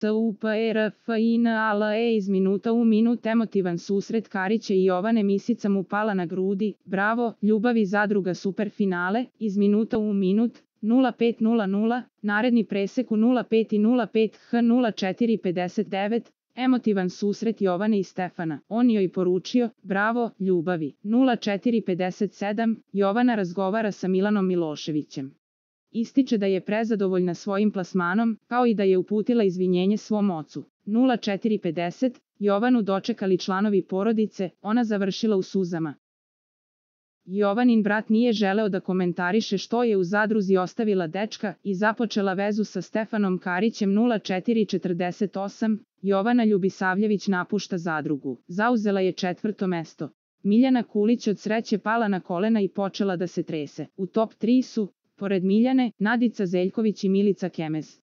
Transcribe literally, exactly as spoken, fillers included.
T U P E R F I N A L E iz minuta u minut emotivan susret Karića i Jovane, misica mu pala na grudi, bravo, ljubavi zadruga superfinale, iz minuta u minut, nula pet nula nula, naredni presek u nula pet i nula pet H nula četiri pedeset devet, emotivan susret Jovane i Stefana, on joj poručio, bravo, ljubavi, nula četiri pedeset sedam, Jovana razgovara sa Milanom Miloševićem. Ističe da je prezadovoljna svojim plasmanom, kao i da je uputila izvinjenje svom ocu. nula četiri pedeset, Jovanu dočekali članovi porodice, ona završila u suzama. Jovanin brat nije želeo da komentariše što je u zadruzi ostavila dečka i započela vezu sa Stefanom Karićem. nula četiri četrdeset osam, Jovana Ljubisavljević napušta zadrugu. Zauzela je četvrto mesto. Miljana Kulić od sreće pala na kolena i počela da se trese. U top tri su, pored Miljane, Nadica Zeljković i Milica Kemez.